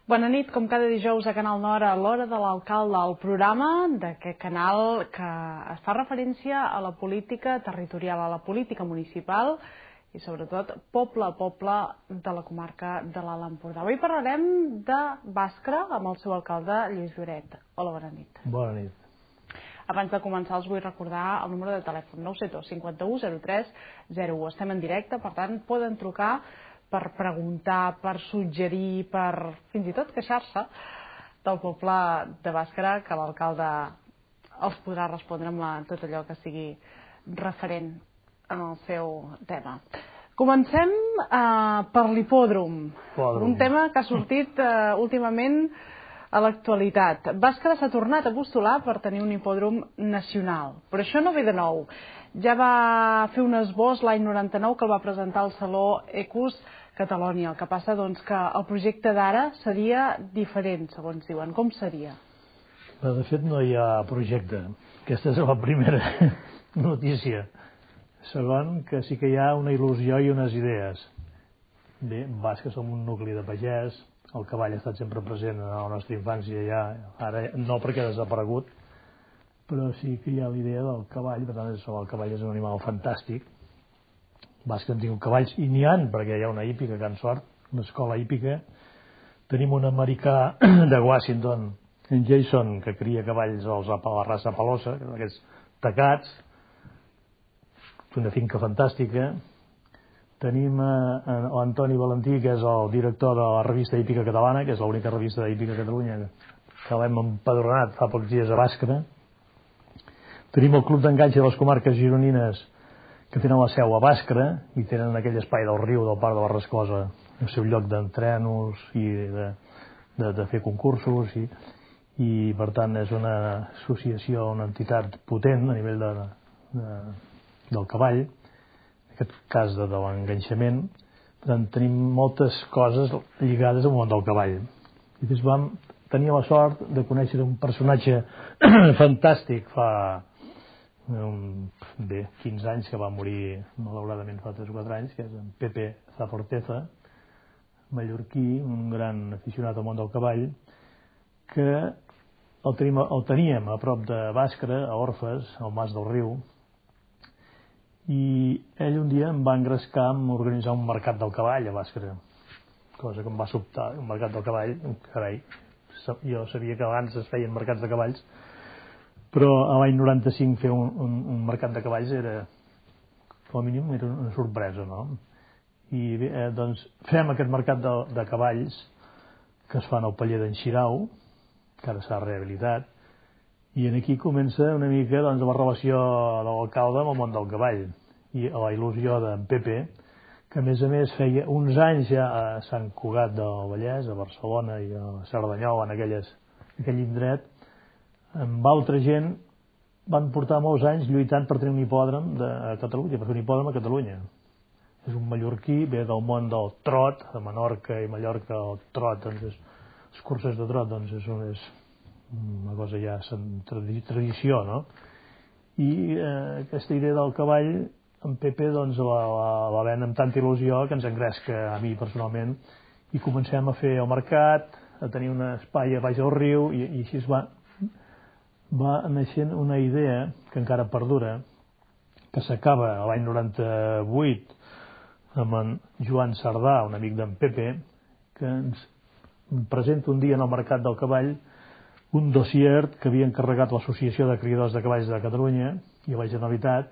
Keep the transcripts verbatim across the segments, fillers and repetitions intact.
Bona nit, com cada dijous a Canal Nord, a l'Hora de l'Alcalde, el programa d'aquest canal que es fa referència a la política territorial, a la política municipal i sobretot poble a poble de la comarca de l'Alt Empordà. Avui parlarem de Bàscara amb el seu alcalde, Lluís Lloret. Hola, bona nit. Bona nit. Abans de començar els vull recordar el número de telèfon nou set dos cinquanta-u zero tres zero u. Estem en directe, per tant poden trucar per preguntar, per suggerir, per fins i tot queixar-se del poble de Bàscara, que l'alcalde els podrà respondre amb tot allò que sigui referent en el seu tema. Comencem eh, per l'hipòdrom, un tema que ha sortit eh, últimament a l'actualitat. Bàscara s'ha tornat a postular per tenir un hipòdrom nacional, però això no ve de nou. Ja va fer un esbós l'any noranta-nou que el va presentar al Saló Ecus Catalonia. El que passa doncs que el projecte d'ara seria diferent, segons diuen. Com seria? De fet, no hi ha projecte. Aquesta és la primera notícia. Segon, que sí que hi ha una il·lusió i unes idees. Bé, Bàscara som un nucli de pagès, el cavall ha estat sempre present en la nostra infància ja, ara no perquè ha desaparegut, però sí que hi ha l'idea del cavall, per tant, el cavall és un animal fantàstic. Bàscara han tingut cavalls, i n'hi han, perquè hi ha una hípica, Can Sort, una escola hípica. Tenim un americà de Washington, en Jason, que cria cavalls als a la raça Palosa, aquests tacats, una finca fantàstica. Tenim l'Antoni Valentí, que és el director de la revista Hípica Catalana, que és l'única revista d'Hípica a Catalunya que l'hem empadronat fa pocs dies a Bàscara. Tenim el Club d'Enganys de les Comarques Gironines, que tenen la seu a Bàscara i tenen aquell espai del riu del Parc de la Rascosa, el seu lloc d'entrenos i de, de, de fer concursos i, i per tant és una associació, una entitat potent a nivell de, de, del cavall, en aquest cas de, de l'enganxament. Per tant, tenim moltes coses lligades al món del cavall. I després vam tenir la sort de conèixer un personatge fantàstic fa Um, bé, quinze anys, que va morir malauradament fa tres o quatre anys, que és en Pepe Zaforteza, mallorquí, un gran aficionat al món del cavall, que el, tenim, el teníem a prop de Bàscara, a Orfes, al Mas del Riu, i ell un dia em va engrescar a organitzar un mercat del cavall a Bàscara, cosa que em va sobtar. Un mercat del cavall, carai, jo sabia que abans es feien mercats de cavalls, però a l'any noranta-cinc fer un, un, un mercat de cavalls era, com a mínim, era una sorpresa, no? I bé, eh, doncs fem aquest mercat de, de cavalls que es fan al paller d'en Xirau, que ara s'ha rehabilitat, i aquí comença una mica doncs, la relació de l'alcalde amb el món del cavall i la il·lusió d'en Pepe, que a més a més feia uns anys ja a Sant Cugat del Vallès, a Barcelona i a Cerdanyola, en aquelles, aquell indret, amb altra gent van portar molts anys lluitant per tenir un hipòdrom de Catalunya, per fer un hipòdrom a Catalunya. És un mallorquí, ve del món del trot, de Menorca i Mallorca, el trot, doncs és, les curses de trot doncs és, una, és una cosa ja tradició, no? I eh, aquesta idea del cavall, en Pepe doncs la, la, la ven amb tanta il·lusió que ens engresca a mi personalment i comencem a fer el mercat, a tenir un espai a baix del riu i, i així es va va naixent una idea que encara perdura, que s'acaba l'any noranta-vuit amb en Joan Sardà, un amic d'en Pepe, que ens presenta un dia en el mercat del cavall un dossier que havia encarregat l'Associació de Criadors de Cavalls de Catalunya i la Generalitat,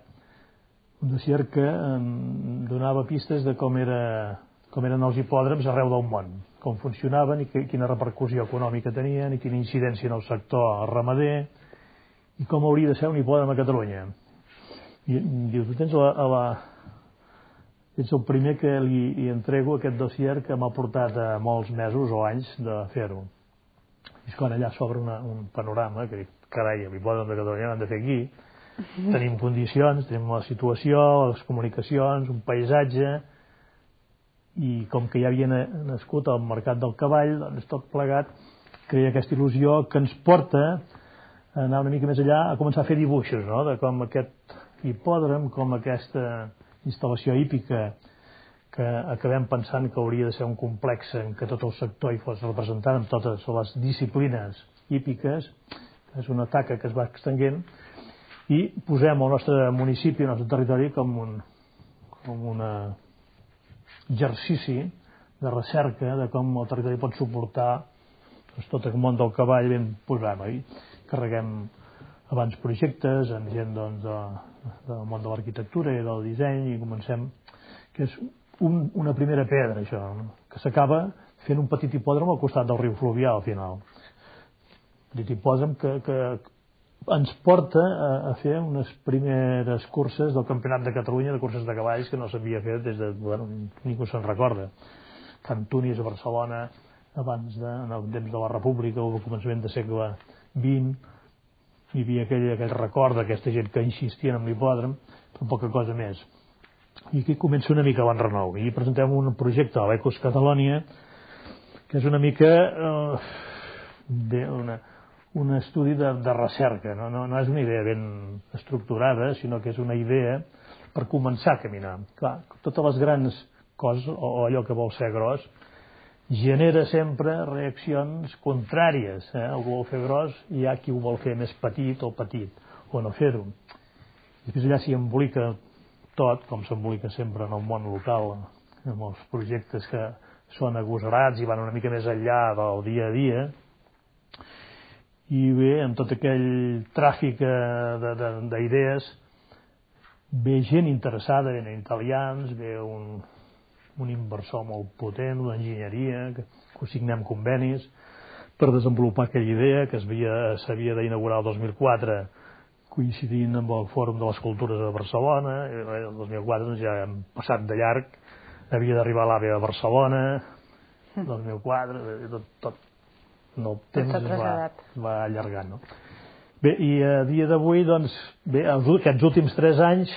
un dossier que em donava pistes de com, era, com eren els hipòdroms arreu del món, com funcionaven i que, quina repercussió econòmica tenien i quina incidència en el sector ramader i com hauria de ser un hipòdrom a Catalunya. I diu, tu tens la, a la... ets el primer que li, li entrego aquest dossier que m'ha portat a molts mesos o anys de fer-ho. I és quan allà s'obre un panorama que dic, carai, l'hipòdrom de Catalunya l'hem de fer aquí, tenim condicions, tenim la situació, les comunicacions, un paisatge, i com que ja havia nascut al mercat del cavall, doncs tot plegat crea aquesta il·lusió que ens porta a anar una mica més allà, a començar a fer dibuixos, no?, de com aquest hipòdrom, com aquesta instal·lació hípica que acabem pensant que hauria de ser un complex en què tot el sector hi fos representat amb totes les disciplines hípiques. És una taca que es va extenguent i posem el nostre municipi, el nostre territori com un com un exercici de recerca de com el territori pot suportar doncs, tot el món del cavall ben posat, no? I carreguem abans projectes amb gent doncs, de, del món de l'arquitectura i del disseny i comencem, que és un, una primera pedra això, no? Que s'acaba fent un petit hipòdrom al costat del riu Fluvià al final. Un petit hipòdrom que, que ens porta a, a fer unes primeres curses del Campionat de Catalunya de curses de cavalls que no s'havia fet des de... Bueno, ningú se'n recorda. Can Tunis a Barcelona, abans de, en el temps de la República o al començament de segle vint, hi havia aquell, aquell record d'aquesta gent que insistien en l'hipòdrom, però poca cosa més. I aquí comença una mica l'enrenou. I presentem un projecte a l'Ecos Catalònia que és una mica eh, de una, un estudi de, de recerca. No? No, no és una idea ben estructurada, sinó que és una idea per començar a caminar. Clar, totes les grans coses, o allò que vol ser gros, genera sempre reaccions contràries. Eh? Algú vol fer gros i hi ha qui ho vol fer més petit o petit, o no fer-ho. Després allà s'hi embolica tot, com s'embolica sempre en el món local, amb els projectes que són agosarats i van una mica més enllà del dia a dia. I bé, amb tot aquell tràfic d'idees, ve gent interessada, ve italians, ve un, un inversor molt potent, una enginyeria, que, que signem convenis per desenvolupar aquella idea que s'havia d'inaugurar el dos mil quatre, coincidint amb el Fòrum de les Cultures de Barcelona. El dos mil quatre doncs, ja hem passat de llarg, havia d'arribar a l'AVE a Barcelona, el dos mil quatre, tot, tot no, el temps es va, es va allargant. No? Bé, i a dia d'avui, doncs, bé, aquests últims tres anys,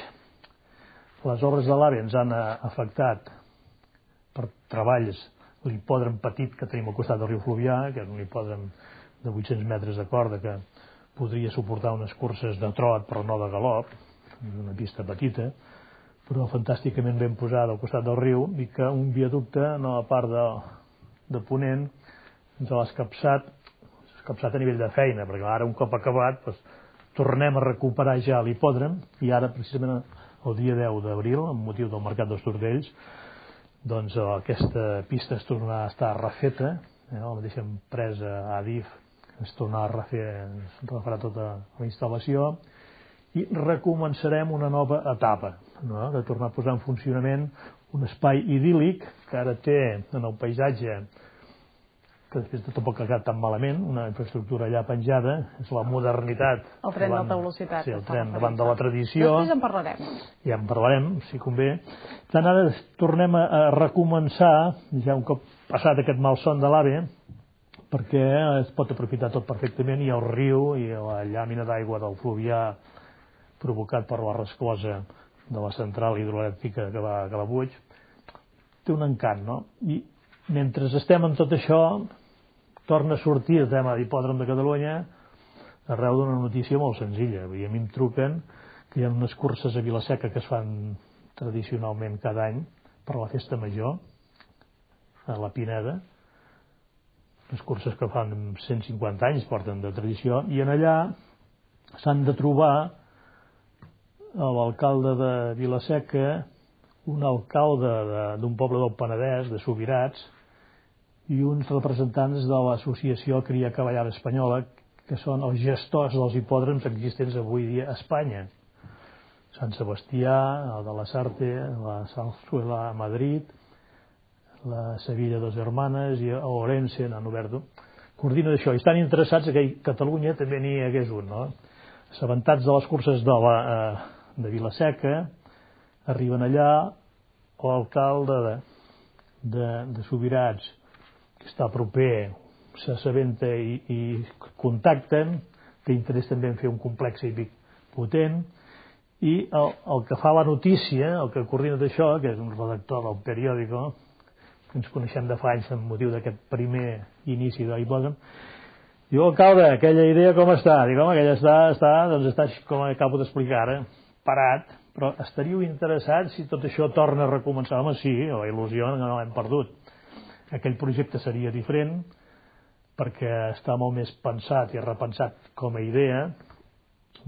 les obres de l'AVE ens han afectat per treballs l'hipòdrom petit que tenim al costat del riu Fluvià, que és un hipòdrom de vuit-cents metres de corda que podria suportar unes curses de trot però no de galop, una pista petita, però fantàsticament ben posada al costat del riu, i que un viaducte a la part de, de Ponent ens l'ha escapçat, escapçat a nivell de feina, perquè ara un cop acabat doncs, tornem a recuperar ja l'hipòdrom, i ara precisament el dia deu d'abril, amb motiu del Mercat dels Tordells, doncs aquesta pista es tornarà a estar refeta, eh, la mateixa empresa Adif es tornarà a refer, es refarà tota la instal·lació i recomençarem una nova etapa, no? De tornar a posar en funcionament un espai idíl·lic que ara té en el paisatge, que després de tampoc ha quedat tan malament, una infraestructura allà penjada, és la modernitat. El tren d'alta velocitat. Sí, el tren davant de la tradició. Després en parlarem. Ja en parlarem, si convé. Tant ara tornem a recomençar, ja un cop passat aquest malson de l'AVE, perquè es pot aprofitar tot perfectament, i el riu i la llàmina d'aigua del Fluvià provocat per la resclosa de la central hidroelèctrica que va a Calabuig té un encant, no? I mentre estem en tot això torna a sortir el tema d'hipòdrom de Catalunya arreu d'una notícia molt senzilla. I a mi em truquen que hi ha unes curses a Vila-seca que es fan tradicionalment cada any per la festa major a la Pineda, les curses que fan cent cinquanta anys porten de tradició, i en allà s'han de trobar l'alcalde de Vila-seca, un alcalde d'un poble del Penedès, de Subirats, i uns representants de l'associació Cria Cavallada Espanyola, que són els gestors dels hipòdroms existents avui dia a Espanya. Sant Sebastià, el de la Sarte, la Salzuela a Madrid, la Sevilla Dos Hermanes i Orense, han obert, coordina d'això. I estan interessats que a Catalunya també n'hi hagués un, no? Assabentats de les curses de, la, de Vila-seca, arriben allà, l'alcalde de, de, de Subirats, que està proper, s'assabenta i, i contacten, té interès també en fer un complex hípic potent, i el, el que fa la notícia, el que coordina d'això, que és un redactor del periòdico, que ens coneixem de fa anys amb motiu d'aquest primer inici de l'hipòdrom, diu, alcalde, aquella idea com està? Dic, home, aquella està, està, doncs està com acabo d'explicar ara, parat, però estaríeu interessats si tot això torna a recomençar? Home, sí, la il·lusió no l'hem perdut. Aquell projecte seria diferent perquè està molt més pensat i repensat com a idea,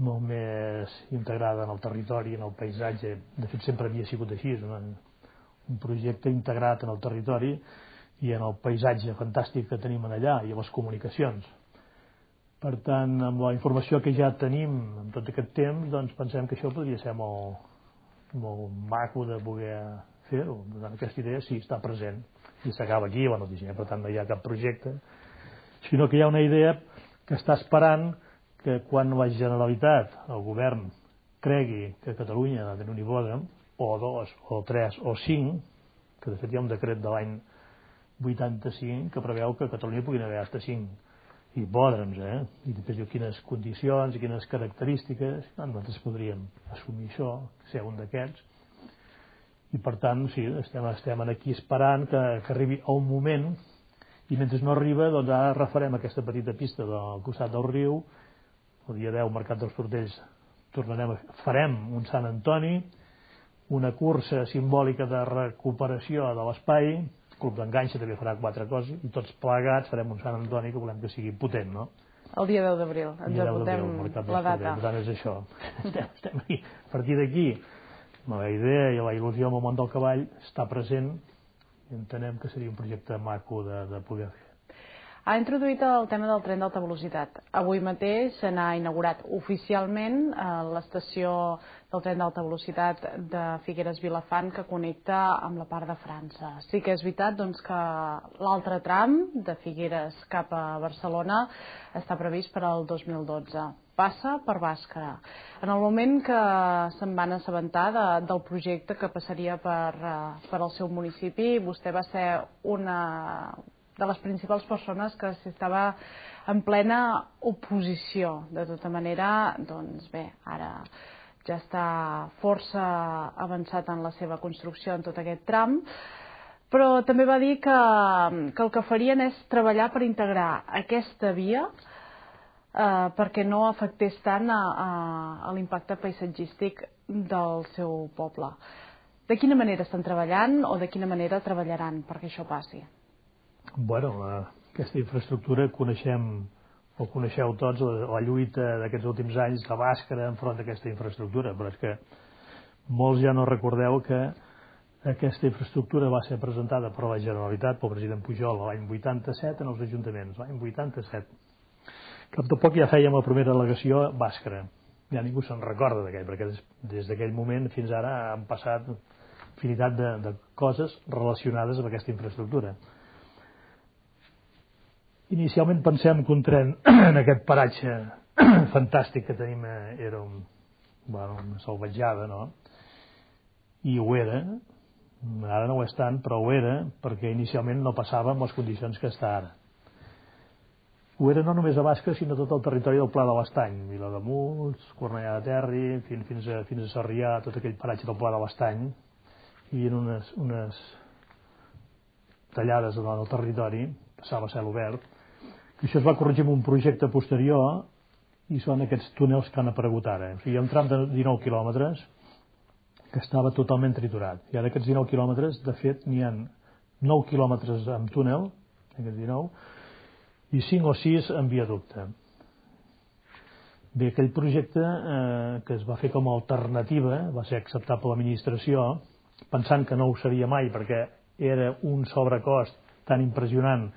molt més integrada en el territori, en el paisatge. De fet, sempre havia sigut així, un, un projecte integrat en el territori i en el paisatge fantàstic que tenim allà i a les comunicacions. Per tant, amb la informació que ja tenim en tot aquest temps, doncs pensem que això podria ser molt, molt maco de poder fer-ho. Per tant, aquesta idea sí està present i s'acaba aquí, bueno, per tant no hi ha cap projecte, sinó que hi ha una idea que està esperant que quan la Generalitat, el govern, cregui que Catalunya ha de tenir un hipòdrom, o dos, o tres, o cinc, que de fet hi ha un decret de l'any vuitanta-cinc que preveu que a Catalunya puguin haver fins cinc hipòdroms, eh? I després diu quines condicions i quines característiques, nosaltres podríem assumir això, ser un d'aquests, i per tant, sí, estem, estem aquí esperant que, que arribi un moment, i mentre no arriba, doncs ara refarem aquesta petita pista del costat del riu, el dia deu, Mercat dels Tortells, tornarem a, farem un Sant Antoni, una cursa simbòlica de recuperació de l'espai, el Club d'Enganxa també farà quatre coses, i tots plegats farem un Sant Antoni que volem que sigui potent, no? El dia deu d'abril, ens apuntem la data. Per tant, és això. Estem, estem aquí. A partir d'aquí, la idea i la il·lusió amb el món del cavall està present i entenem que seria un projecte maco de, de poder fer. Ha introduït el tema del tren d'alta velocitat. Avui mateix se n'ha inaugurat oficialment l'estació del tren d'alta velocitat de Figueres-Vilafant que connecta amb la part de França. Sí que és veritat doncs, que l'altre tram de Figueres cap a Barcelona està previst per al dos mil dotze. Passa per Bàscara. En el moment que se'n van assabentar de, del projecte que passaria per, per al seu municipi, vostè va ser una de les principals persones que s'estava en plena oposició. De tota manera, doncs bé, ara ja està força avançat en la seva construcció en tot aquest tram, però també va dir que, que el que farien és treballar per integrar aquesta via eh, perquè no afectés tant a, a, a l'impacte paisatgístic del seu poble. De quina manera estan treballant o de quina manera treballaran perquè això passi? Bueno, aquesta infraestructura coneixem, o coneixeu tots, la lluita d'aquests últims anys de Bàscara enfront d'aquesta infraestructura, però és que molts ja no recordeu que aquesta infraestructura va ser presentada per la Generalitat, pel president Pujol, l'any vuitanta-set en els ajuntaments, l'any vuitanta-set. Cap de poc ja fèiem la primera al·legació a Bàscara. Ja ningú se'n recorda d'aquell, perquè des, des d'aquell moment fins ara han passat infinitat de, de coses relacionades amb aquesta infraestructura. Inicialment pensem que un tren en aquest paratge fantàstic que tenim era un, bueno, una salvatjada, no? I ho era, ara no ho és tant, però ho era, perquè inicialment no passava amb les condicions que està ara. Ho era no només a Bàscara, sinó tot el territori del Pla de l'Estany, Vilademuls, Cornellà de Terri, fins, fins, a, fins a Sarrià, tot aquell paratge del Pla de l'Estany, hi havia unes, unes tallades en el territori, passava a cel obert. Això es va corregir amb un projecte posterior i són aquests túnels que han aparegut ara. O sigui, hi ha un tram de dinou quilòmetres que estava totalment triturat. I ara aquests dinou quilòmetres, de fet, n'hi ha nou quilòmetres amb túnel, aquests dinou, i cinc o sis en viaducte. Bé, aquell projecte eh, que es va fer com a alternativa, va ser acceptat per l'administració, pensant que no ho seria mai perquè era un sobrecost tan impressionant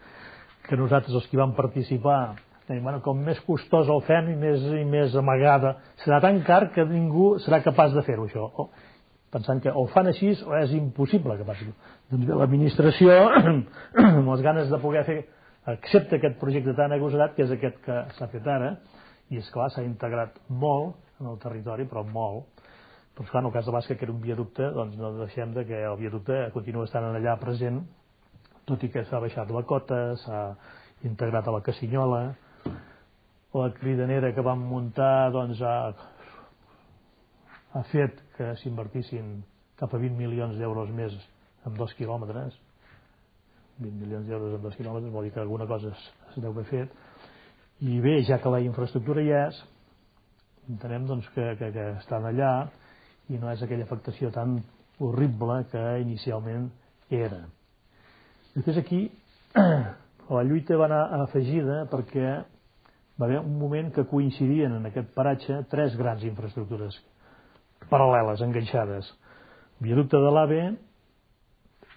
que nosaltres els que hi vam participar, bueno, com més costós el fem i més, i més amagada, serà tan car que ningú serà capaç de fer-ho, això. O, pensant que o fan així o és impossible que passi. Doncs bé, l'administració, amb les ganes de poder fer, accepta aquest projecte tan agosarat, que és aquest que s'ha fet ara, i és clar, s'ha integrat molt en el territori, però molt. Però clar, en el cas de Bàscara, que era un viaducte, doncs no deixem de que el viaducte continua estant allà present, tot i que s'ha baixat la cota, s'ha integrat a la Cassinyola, la cridanera que vam muntar doncs, ha, ha fet que s'invertissin cap a vint milions d'euros més en dos quilòmetres. vint milions d'euros en dos quilòmetres vol dir que alguna cosa es, es deu haver fet. I bé, ja que la infraestructura hi és, entenem doncs, que, que, que estan allà i no és aquella afectació tan horrible que inicialment era. Després aquí la lluita va anar afegida perquè va haver un moment que coincidien en aquest paratge tres grans infraestructures paral·leles, enganxades. Viaducte de l'A V E,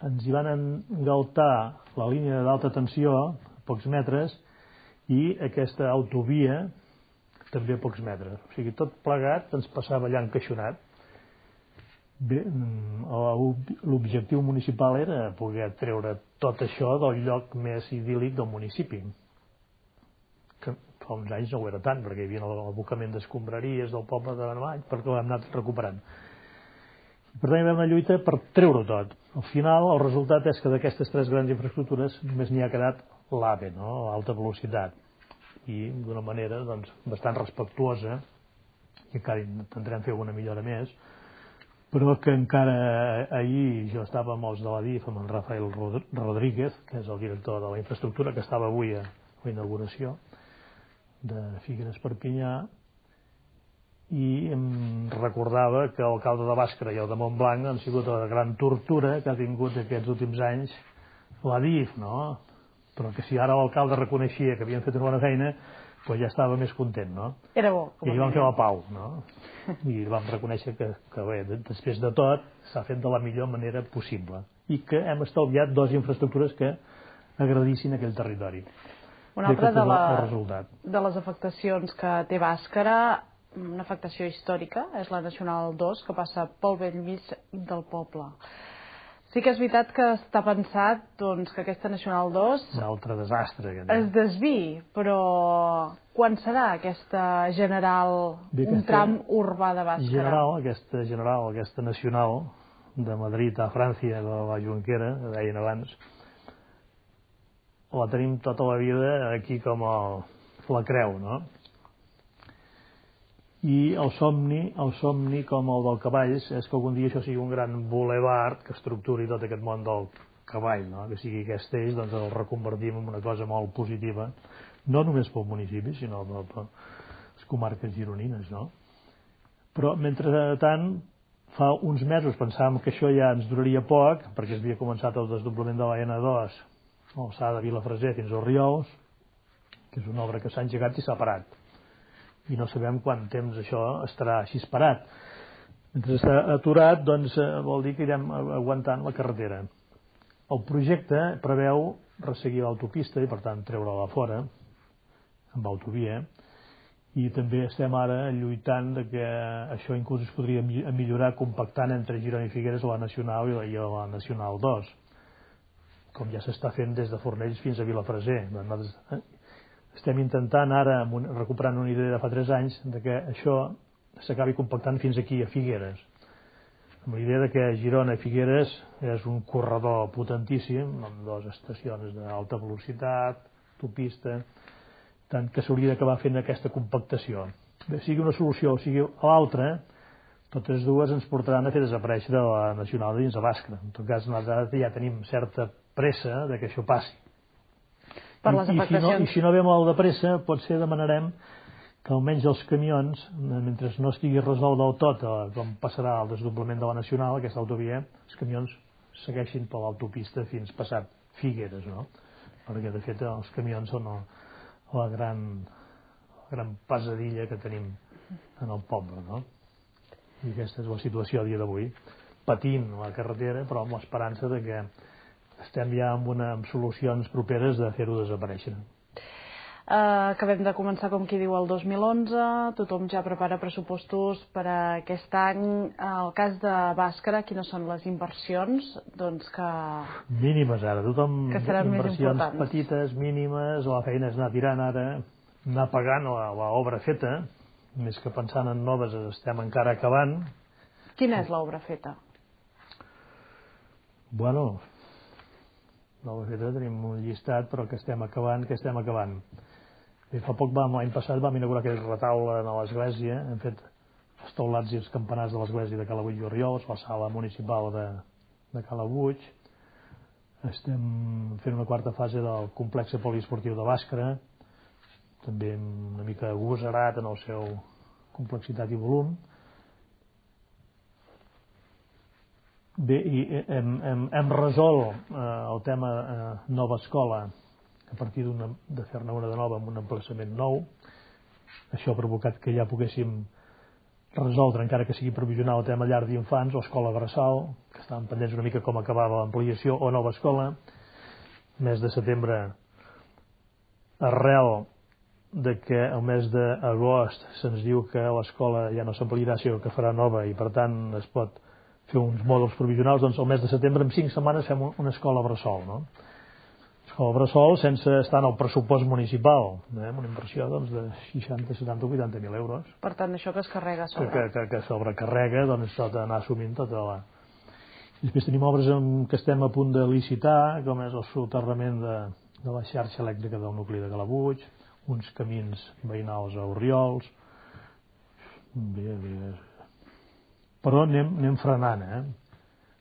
ens hi van engaltar la línia d'alta tensió a pocs metres i aquesta autovia també a pocs metres. O sigui, tot plegat ens passava allà encaixonat. Bé, l'objectiu municipal era poder treure tot això del lloc més idíl·lic del municipi, que fa uns anys no ho era tant, perquè hi havia l'abocament d'escombraries del poble de Benavall, perquè l'hem anat recuperant. Per tant, hi va haver una lluita per treure-ho tot. Al final, el resultat és que d'aquestes tres grans infraestructures només n'hi ha quedat l'A V E, no? L'alta velocitat, i d'una manera doncs, bastant respectuosa, i encara intentarem fer alguna millora més, però que encara ahir jo estava amb els de la D I F, amb en Rafael Rodríguez, que és el director de la infraestructura, que estava avui a la inauguració de Figueres Perpinyà, i em recordava que l'alcalde de Bàscara i el de Montblanc han sigut la gran tortura que ha tingut aquests últims anys la D I F, no? Però que si ara l'alcalde reconeixia que havien fet una bona feina, doncs ja estava més content, no? Era bo. I ahir vam fer la pau, no? I vam reconèixer que, que bé, després de tot s'ha fet de la millor manera possible i que hem estalviat dues infraestructures que agradissin aquell territori. Una altra de, la, el resultat. de les afectacions que té Bàscara, una afectació històrica, és la Nacional dos, que passa pel bell mig del poble. Sí que és veritat que està pensat doncs, que aquesta Nacional dos un altre desastre es desviï, però quan serà aquesta general, Bé, aquesta un tram urbà de Bàscara? General, aquesta general, aquesta nacional de Madrid a França, de la Junquera, que deien abans, la tenim tota la vida aquí com el, la creu, no? I el somni, el somni com el del cavalls és que algun dia això sigui un gran bulevard que estructuri tot aquest món del cavall, no? Que sigui aquest eix, doncs el reconvertim en una cosa molt positiva, no només pel municipi, sinó per, per les comarques gironines, no? Però, mentrestant, fa uns mesos pensàvem que això ja ens duraria poc, perquè es havia començat el desdoblament de la ena dos a l'alçada de Vilafreser fins als Riols, que és una obra que s'ha engegat i s'ha parat. I no sabem quant temps això estarà així parat. Mentre està aturat, doncs vol dir que irem aguantant la carretera. El projecte preveu resseguir l'autopista i, per tant, treure-la fora, amb autovia, i també estem ara lluitant de que això inclús es podria millorar compactant entre Girona i Figueres la Nacional i la Nacional dos, com ja s'està fent des de Fornells fins a Vilafreser. Estem intentant ara, recuperant una idea de fa tres anys, de que això s'acabi compactant fins aquí, a Figueres. Amb la idea de que Girona i Figueres és un corredor potentíssim, amb dues estacions d'alta velocitat, autopista, tant que s'hauria d'acabar fent aquesta compactació. Bé, sigui una solució o sigui l'altra, totes dues ens portaran a fer desaparèixer la Nacional de dins de Bàscara. En tot cas, nosaltres ja tenim certa pressa de que això passi. Per les I, i, si no, I si no ve molt de pressa, potser demanarem que almenys els camions, mentre no estigui resolt del tot, com passarà el desdoblament de la Nacional, aquesta autovia, els camions segueixin per l'autopista fins passat Figueres, no? Perquè, de fet, els camions són la gran, la gran pesadilla que tenim en el poble, no? I aquesta és la situació a dia d'avui, patint la carretera, però amb l'esperança de que estem ja amb, una, amb solucions properes de fer-ho desaparèixer. Uh, acabem de començar, com qui diu, el dos mil onze, tothom ja prepara pressupostos per a aquest any. El cas de Bàscara, quines són les inversions? Doncs que... Mínimes ara, tothom que seran inversions petites, mínimes, la feina és anar tirant ara, anar pagant l'obra feta, més que pensant en noves estem encara acabant. Quina és l'obra feta? Bueno... l'obra feta tenim un llistat, però que estem acabant, que estem acabant. I fa poc, l'any passat, vam inaugurar aquell retaule a l'església, hem fet els taulats i els campanars de l'església de Calabuig i Oriols, la sala municipal de, de Calabuig. Estem fent una quarta fase del complex poliesportiu de Bàscara, també una mica agosarat en el seu complexitat i volum. Bé, i hem, hem, hem resolt eh, el tema eh, nova escola a partir de fer-ne una de nova amb un emplaçament nou. Això ha provocat que ja poguéssim resoldre, encara que sigui provisional, el tema llar d'infants o escola bressol, que estàvem pendents una mica com acabava l'ampliació, o nova escola. Mes de setembre, arrel de que el mes d'agost se'ns diu que l'escola ja no s'ampliarà, sinó que farà nova i per tant es pot fer uns mòduls provisionals, doncs el mes de setembre en cinc setmanes fem una escola bressol, no? Escola bressol sense estar en el pressupost municipal, eh? Amb una inversió doncs, de seixanta, setanta, vuitanta mil euros. Per tant, això que es carrega a sobre. Que, que, que sobrecarrega, doncs s'ha d'anar assumint tota la... Després tenim obres en què estem a punt de licitar, com és el soterrament de, de la xarxa elèctrica del nucli de Calabuig, uns camins veïnals a Orriols. Bé, bé. Però anem, anem frenant, eh?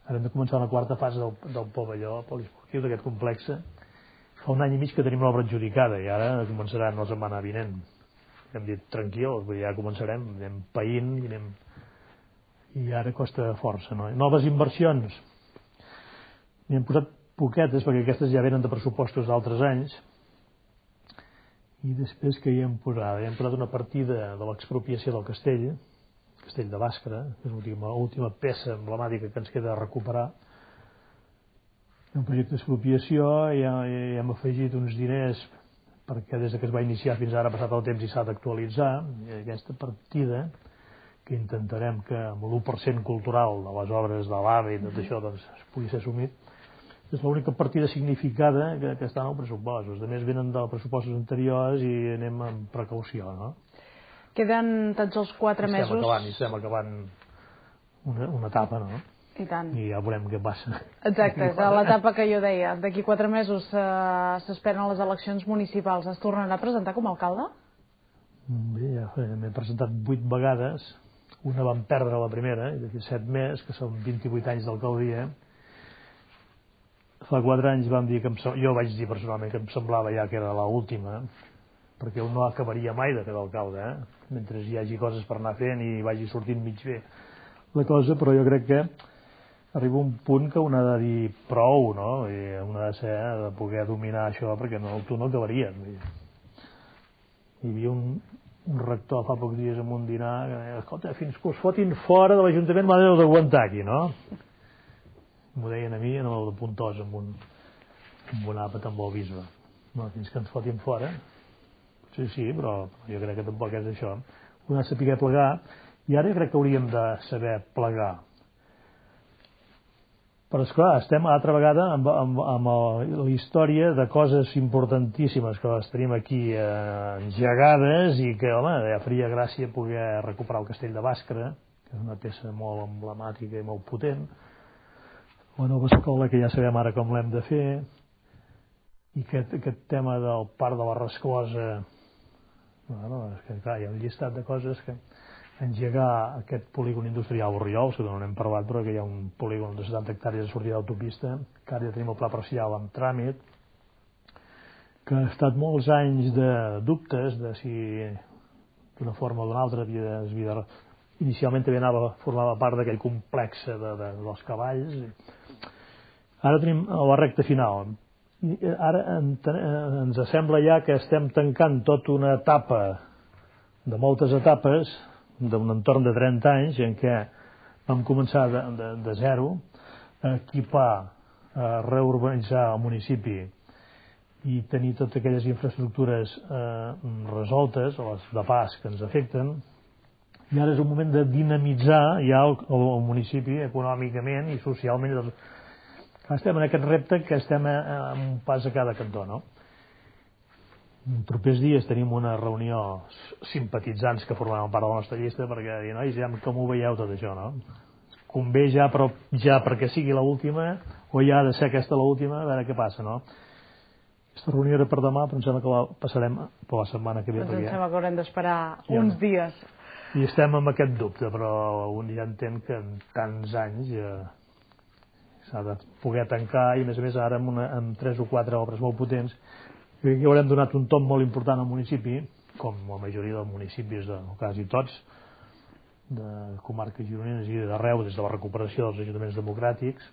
Ara hem de començar la quarta fase del, del pavelló poliesportiu d'aquest complex. Fa un any i mig que tenim l'obra adjudicada i ara començarà la setmana vinent. Hem dit tranquils, ja començarem, anem païnt i anem... i ara costa força, no? Noves inversions. N'hi hem posat poquetes perquè aquestes ja venen de pressupostos d'altres anys. I després que hi hem posat? Hi hem posat una partida de l'expropiació del castell, Castell de Bàscara, que és l'última última peça emblemàtica que ens queda a recuperar. Un projecte d'expropiació i hi hem afegit uns diners perquè des que es va iniciar fins ara ha passat el temps i s'ha d'actualitzar. I aquesta partida, que intentarem que amb l'u per cent cultural de les obres de l'AVE i tot això doncs, es pugui ser assumit, és l'única partida significada que, que està en el pressupost. Els altres venen de pressupostos anteriors i anem amb precaució, no? Queden tots els quatre estem mesos... Acabant, estem acabant una, una etapa, no? I tant. I ja veurem què passa. Exacte, és l'etapa que jo deia. D'aquí quatre mesos eh, s'esperen les eleccions municipals. Es tornarà a presentar com a alcalde? Bé, ja m'he presentat vuit vegades. Una vam perdre la primera, i d'aquí set més, que són vint-i-vuit anys d'alcaldia. Fa quatre anys vam dir que em, jo vaig dir personalment que em semblava ja que era l'última, perquè un no acabaria mai de fer d'alcalde, eh? Mentre hi hagi coses per anar fent i vagi sortint mig bé la cosa, però jo crec que arriba un punt que un ha de dir prou, no? I un ha de ser, de poder dominar això, perquè no, tu no acabaries. Hi havia un, un rector fa pocs dies en un dinar que deia, escolta, fins que us fotin fora de l'Ajuntament m'ha d'aguantar aquí, no? M'ho deien a mi en el de Puntós, amb un, amb un àpat amb el bisbe. No, fins que ens fotin fora. Sí, sí, però jo crec que tampoc és això. Un ha de saber plegar, i ara crec que hauríem de saber plegar. Però, esclar, estem altra vegada amb, amb, amb la història de coses importantíssimes que les tenim aquí eh, engegades i que, home, ja faria gràcia poder recuperar el Castell de Bàscara, que és una peça molt emblemàtica i molt potent, la nova escola que ja sabem ara com l'hem de fer, i aquest, aquest tema del Parc de la Resclosa. Bueno, és que, clar, hi ha un llistat de coses que engegar aquest polígon industrial Orriols, que no n'hem parlat, però que hi ha un polígon de setanta hectàrees de sortida d'autopista, que ara ja tenim el pla parcial en tràmit, que ha estat molts anys de dubtes de si d'una forma o d'una altra havia, havia inicialment també anava, formava part d'aquell complex de, de, dels cavalls. Ara tenim la recta final. Ara ens sembla ja que estem tancant tota una etapa de moltes etapes d'un entorn de trenta anys en què vam començar de, de, de zero a equipar, a reurbanitzar el municipi i tenir totes aquelles infraestructures eh, resoltes, les de pas que ens afecten, i ara és un moment de dinamitzar ja el, el municipi econòmicament i socialment. Estem en aquest repte que estem amb un pas a cada cantó, no? En propers dies tenim una reunió simpatitzants que formaran part de la nostra llista perquè dir, nois, ja com ho veieu tot això, no? Convé ja, però ja perquè sigui l'última o ja ha de ser aquesta l'última, a veure què passa, no? Aquesta reunió era per demà, però em sembla que la passarem per la setmana que ve. Doncs em sembla que haurem d'esperar ja, uns dies. I estem amb aquest dubte, però un ja entén que en tants anys eh, s'ha de poder tancar i a més a més ara amb, una, amb tres o quatre obres molt potents que haurem donat un tom molt important al municipi, com la majoria dels municipis, de, quasi tots, de comarques gironines i d'arreu des de la recuperació dels ajuntaments democràtics,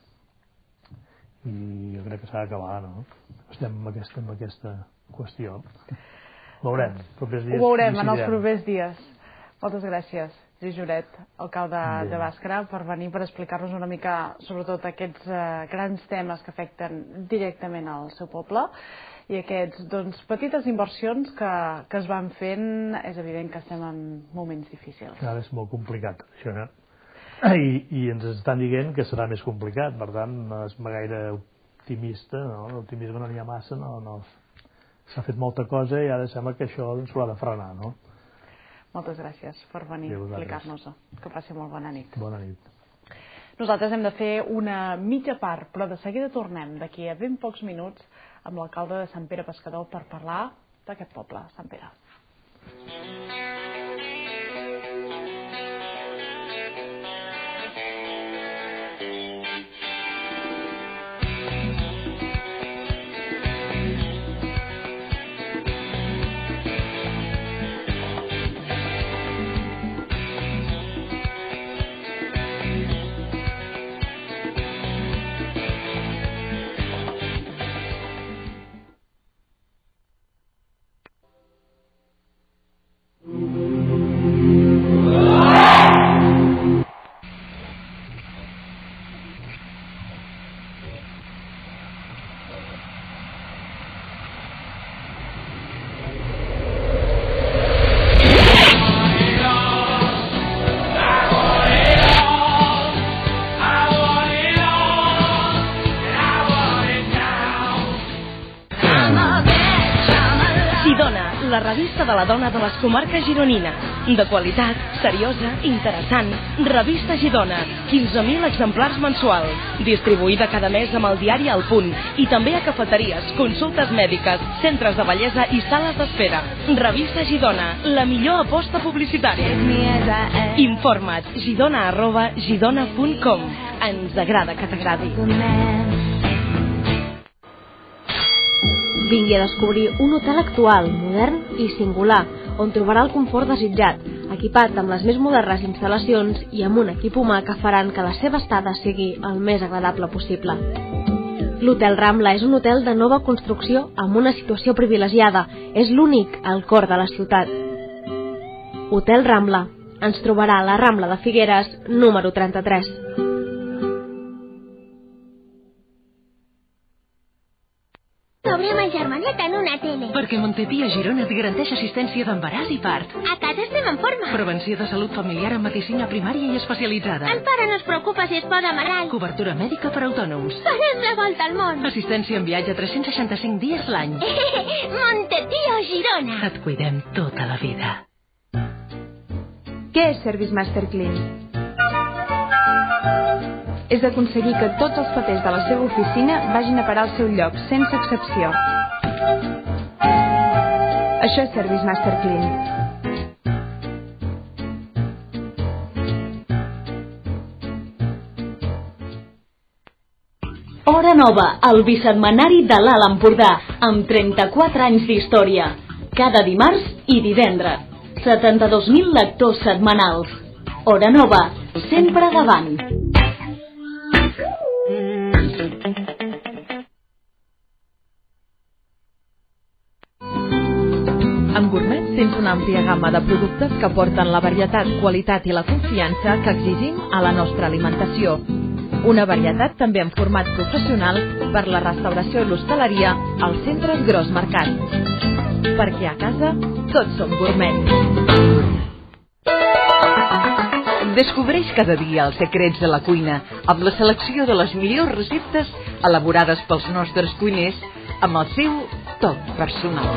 i jo crec que s'ha d'acabar, no? Estem en aquesta, en aquesta qüestió. Veurem, propers dies. Ho veurem en els propers dies. Moltes gràcies, Lluís Lloret, alcalde de Bàscara, per venir per explicar-nos una mica sobretot aquests eh, grans temes que afecten directament al seu poble i aquests, doncs, petites inversions que, que es van fent. És evident que estem en moments difícils. Ara és molt complicat, això, no? I, i ens estan dient que serà més complicat, per tant, no és gaire optimista, no? L'optimisme no n'hi ha massa, no, no. S'ha fet molta cosa i ara sembla que això s'ho ha de frenar, no? Moltes gràcies per venir a explicar-nos-ho. Que passi molt bona nit. Bona nit. Nosaltres hem de fer una mitja part, però de seguida tornem d'aquí a ben pocs minuts amb l'alcalde de Sant Pere Pescador per parlar d'aquest poble, Sant Pere. La revista de la dona de les comarques gironines. De qualitat, seriosa, interessant. Revista Girona, quinze mil exemplars mensuals. Distribuïda cada mes amb el diari El Punt. I també a cafeteries, consultes mèdiques, centres de bellesa i sales d'espera. Revista Girona, la millor aposta publicitària. Informa't, girona arroba girona punt com. Ens agrada que t'agradi. Vingui a descobrir un hotel actual, modern i singular, on trobarà el confort desitjat, equipat amb les més modernes instal·lacions i amb un equip humà que faran que la seva estada sigui el més agradable possible. L'Hotel Rambla és un hotel de nova construcció amb una situació privilegiada. És l'únic al cor de la ciutat. Hotel Rambla. Ens trobarà a la Rambla de Figueres, número trenta-tres. Obrem el germanet en una tele. Perquè Montepí a Girona et garanteix assistència d'embaràs i part. A casa estem en forma. Prevenció de salut familiar amb medicina primària i especialitzada. El pare no es preocupa si es posa malalt. Cobertura mèdica per autònoms. Farem la volta al món. Assistència en viatge tres-cents seixanta-cinc dies l'any. Montepí a Girona. Et cuidem tota la vida. Què és Service Master Clean? És aconseguir que tots els papers de la seva oficina vagin a parar al seu lloc, sense excepció. Això és Service Master Clean. Hora Nova, el bisetmanari de l'Alt Empordà, amb trenta-quatre anys d'història. Cada dimarts i divendres. setanta-dos mil lectors setmanals. Hora Nova, sempre davant. Amb Gourmet tens una àmplia gamma de productes que porten la varietat, qualitat i la confiança que exigim a la nostra alimentació. Una varietat també en format professional per la restauració i l'hostaleria als centres Gros Mercat. Perquè a casa tots som gourmet. Descobreix cada dia els secrets de la cuina amb la selecció de les millors receptes elaborades pels nostres cuiners amb el seu toc personal.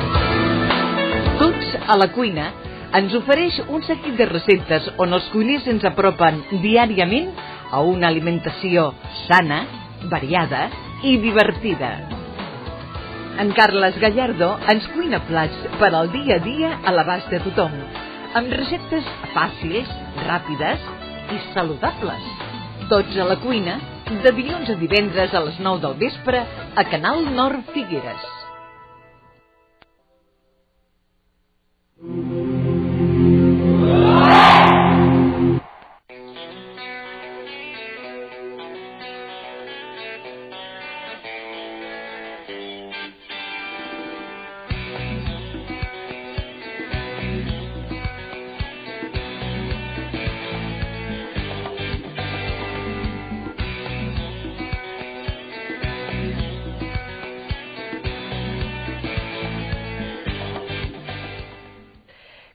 Tots a la cuina ens ofereix un seguit de receptes on els cuiners ens apropen diàriament a una alimentació sana, variada i divertida. En Carles Gallardo ens cuina plats per al dia a dia a l'abast de tothom, amb receptes fàcils, ràpides i saludables. Tots a la cuina, de dilluns a divendres a les nou del vespre a Canal Nord Figueres.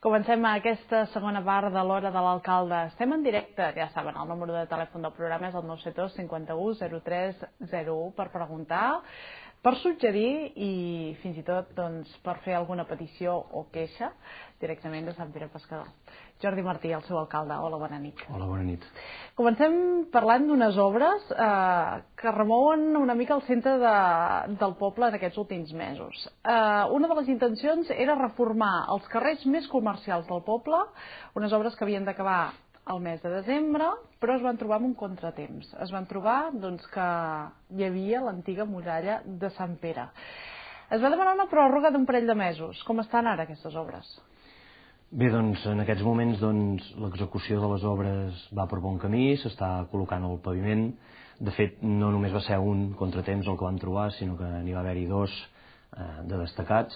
Comencem aquesta segona part de l'Hora de l'Alcalde. Estem en directe, ja saben, el número de telèfon del programa és el nou set dos cinquanta u zero tres zero u per preguntar, per suggerir i fins i tot doncs, per fer alguna petició o queixa directament de Sant Pere Pescador. Jordi Martí, el seu alcalde. Hola, bona nit. Hola, bona nit. Comencem parlant d'unes obres eh, que remouen una mica el centre de, del poble en aquests últims mesos. Eh, una de les intencions era reformar els carrers més comercials del poble, unes obres que havien d'acabar al mes de desembre, però es van trobar amb un contratemps. Es van trobar doncs, que hi havia l'antiga muralla de Sant Pere. Es va demanar una pròrroga d'un parell de mesos. Com estan ara aquestes obres? Bé, doncs, en aquests moments doncs, l'execució de les obres va per bon camí, s'està col·locant el paviment. De fet, no només va ser un contratemps el que vam trobar, sinó que n'hi va haver-hi dos eh, de destacats.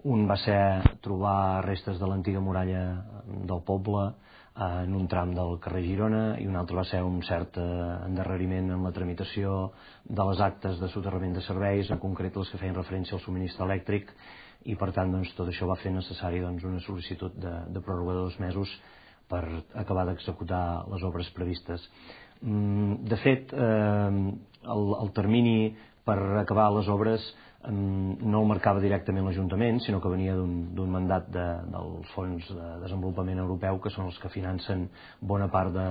Un va ser trobar restes de l'antiga muralla del poble eh, en un tram del carrer Girona, i un altre va ser un cert eh, endarreriment en la tramitació de les actes de soterrament de serveis, en concret les que feien referència al subministre elèctric, i per tant doncs, tot això va fer necessari doncs, una sol·licitud de, de pròrroga de dos mesos per acabar d'executar les obres previstes. De fet, eh, el, el termini per acabar les obres eh, no el marcava directament l'Ajuntament, sinó que venia d'un mandat de, dels Fons de Desenvolupament Europeu, que són els que financen bona part de,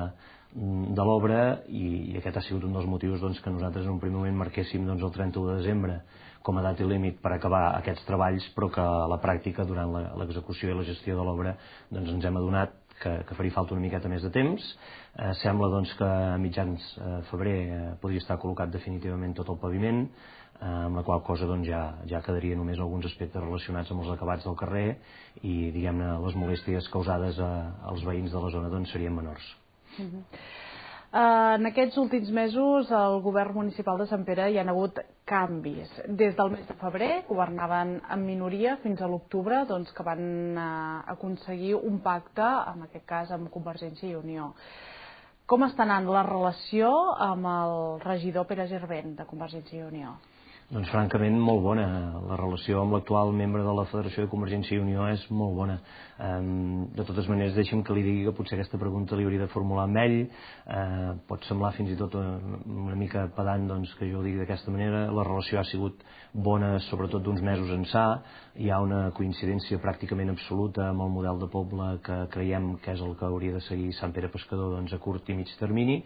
de l'obra, i, i aquest ha sigut un dels motius doncs, que nosaltres en un primer moment marquéssim doncs, el trenta-u de desembre com a data límit per acabar aquests treballs, però que a la pràctica, durant l'execució i la gestió de l'obra, doncs ens hem adonat que, que faria falta una miqueta més de temps. Eh, sembla doncs, que a mitjans eh, febrer eh, podria estar col·locat definitivament tot el paviment, eh, amb la qual cosa doncs, ja, ja quedaria només alguns aspectes relacionats amb els acabats del carrer, i diguem-ne les molèsties causades a, als veïns de la zona doncs, serien menors. Uh-huh. Uh, en aquests últims mesos al govern municipal de Sant Pere hi ha hagut canvis. Des del mes de febrer governaven en minoria fins a l'octubre, doncs, que van uh, aconseguir un pacte, en aquest cas amb Convergència i Unió. Com està anant la relació amb el regidor Pere Gervent de Convergència i Unió? Doncs francament molt bona. La relació amb l'actual membre de la Federació de Convergència i Unió és molt bona. De totes maneres, deixi'm que li digui que potser aquesta pregunta li hauria de formular amb ell. Pot semblar fins i tot una mica pedant doncs, que jo ho digui d'aquesta manera. La relació ha sigut bona, sobretot d'uns mesos ençà. Hi ha una coincidència pràcticament absoluta amb el model de poble que creiem que és el que hauria de seguir Sant Pere Pescador doncs, a curt i mig termini.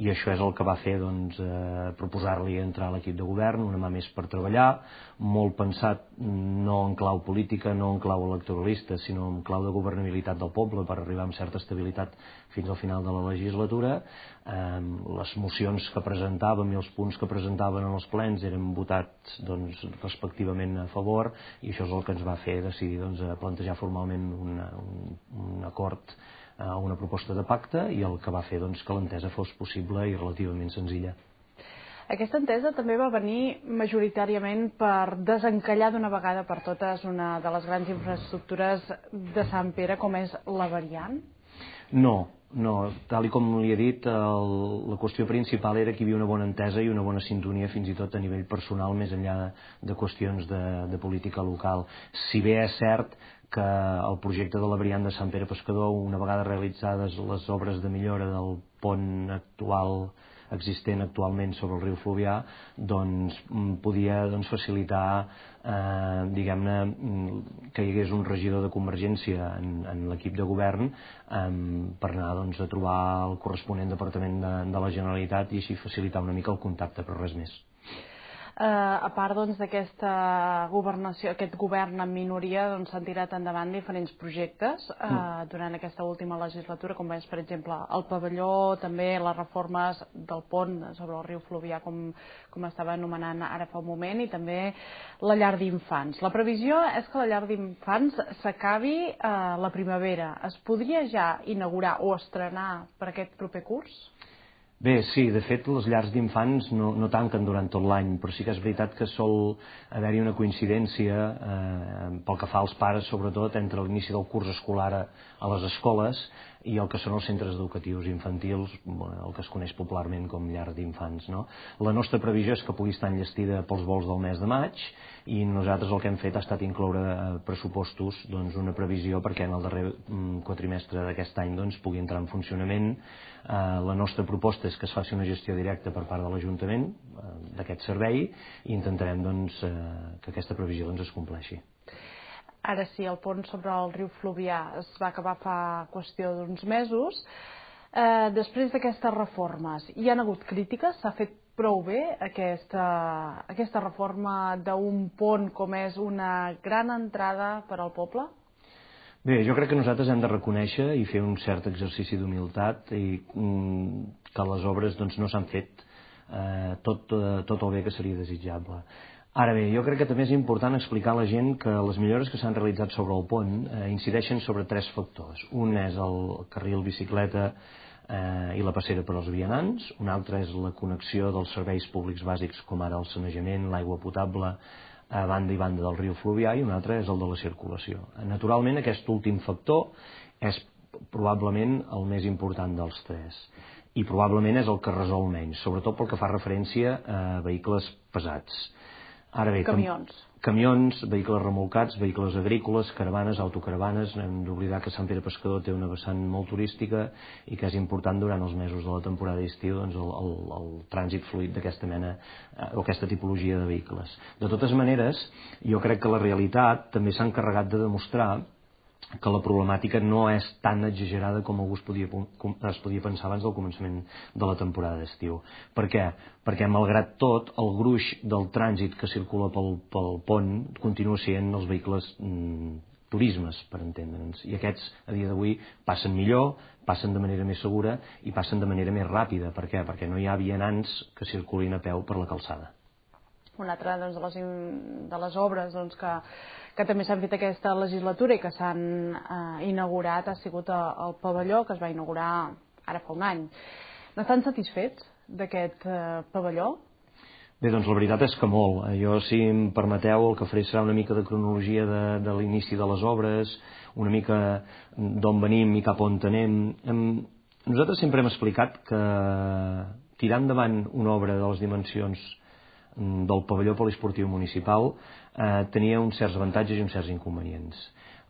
I això és el que va fer doncs, eh, proposar-li entrar a l'equip de govern, una mà més per treballar, molt pensat no en clau política, no en clau electoralista, sinó en clau de governabilitat del poble per arribar amb certa estabilitat fins al final de la legislatura. Eh, les mocions que presentàvem i els punts que presentaven en els plens eren votats doncs, respectivament a favor, i això és el que ens va fer decidir doncs, plantejar formalment una, un, un acord, una proposta de pacte, i el que va fer doncs, que l'entesa fos possible i relativament senzilla. Aquesta entesa també va venir majoritàriament per desencallar d'una vegada per totes una de les grans infraestructures de Sant Pere, com és la variant? No, no. Tal i com li he dit, el, la qüestió principal era que hi havia una bona entesa i una bona sintonia, fins i tot a nivell personal, més enllà de, de qüestions de, de política local. Si bé és cert que el projecte de la variant de Sant Pere Pescador, una vegada realitzades les obres de millora del pont actual existent actualment sobre el riu Fluvià, doncs podia doncs, facilitar eh, diguem-ne que hi hagués un regidor de Convergència en, en l'equip de govern eh, per anar doncs, a trobar el corresponent departament de, de la Generalitat i així facilitar una mica el contacte, però res més. Eh, a part doncs, d'aquesta governació, aquest govern en minoria, doncs, s'han tirat endavant diferents projectes eh, mm. durant aquesta última legislatura, com és per exemple el pavelló, també les reformes del pont sobre el riu Fluvià, com, com estava anomenant ara fa un moment, i també la llar d'infants. La previsió és que la llar d'infants s'acabi eh, la primavera. Es podria ja inaugurar o estrenar per aquest proper curs? Bé, sí, de fet les llars d'infants no, no tanquen durant tot l'any, però sí que és veritat que sol haver-hi una coincidència eh, pel que fa als pares, sobretot entre l'inici del curs escolar a, a les escoles i el que són els centres educatius infantils, bueno, el que es coneix popularment com llar d'infants, no? La nostra previsió és que pugui estar enllestida pels vols del mes de maig i nosaltres el que hem fet ha estat incloure pressupostos, doncs, una previsió perquè en el darrer quatrimestre d'aquest any doncs, pugui entrar en funcionament. Eh, la nostra proposta és que es faci una gestió directa per part de l'Ajuntament eh, d'aquest servei i intentarem doncs, eh, que aquesta previsió doncs, es compleixi. Ara sí, el pont sobre el riu Fluvià es va acabar fa qüestió d'uns mesos. Eh, després d'aquestes reformes, hi han hagut crítiques? S'ha fet prou bé aquesta, aquesta reforma d'un pont com és una gran entrada per al poble? Bé, jo crec que nosaltres hem de reconèixer i fer un cert exercici d'humilitat i mm, que les obres doncs, no s'han fet eh, tot, tot el bé que seria desitjable. Ara bé, jo crec que també és important explicar a la gent que les millores que s'han realitzat sobre el pont eh, incideixen sobre tres factors. Un és el carril bicicleta eh, i la passera per als vianants, un altre és la connexió dels serveis públics bàsics com ara el sanejament, l'aigua potable, a banda i banda del riu Fluvià, i un altre és el de la circulació. Naturalment, aquest últim factor és probablement el més important dels tres i probablement és el que resol menys, sobretot pel que fa referència a vehicles pesats. Ara bé, camions. Camions, vehicles remolcats, vehicles agrícoles, caravanes, autocaravanes. Hem d'oblidar que Sant Pere Pescador té una vessant molt turística i que és important durant els mesos de la temporada d'estiu doncs el, el, el trànsit fluid d'aquesta mena o aquesta tipologia de vehicles. De totes maneres, jo crec que la realitat també s'ha encarregat de demostrar que la problemàtica no és tan exagerada com algú es podia, es podia pensar abans del començament de la temporada d'estiu. Per què? Perquè, malgrat tot, el gruix del trànsit que circula pel, pel pont continua sent els vehicles mm, turismes, per entendre'ns. I aquests, a dia d'avui, passen millor, passen de manera més segura i passen de manera més ràpida. Per què? Perquè no hi ha vianants que circulin a peu per la calçada. Una altra doncs, de, les, de les obres doncs, que, que també s'han fet aquesta legislatura i que s'han eh, inaugurat ha sigut el pavelló que es va inaugurar ara fa un any. N'estan satisfets d'aquest eh, pavelló? Bé, doncs la veritat és que molt. Jo, si em permeteu, el que faré serà una mica de cronologia de, de l'inici de les obres, una mica d'on venim i cap on anem. Nosaltres sempre hem explicat que tirar endavant una obra de les dimensions del pavelló poliesportiu municipal eh, tenia uns certs avantatges i uns certs inconvenients.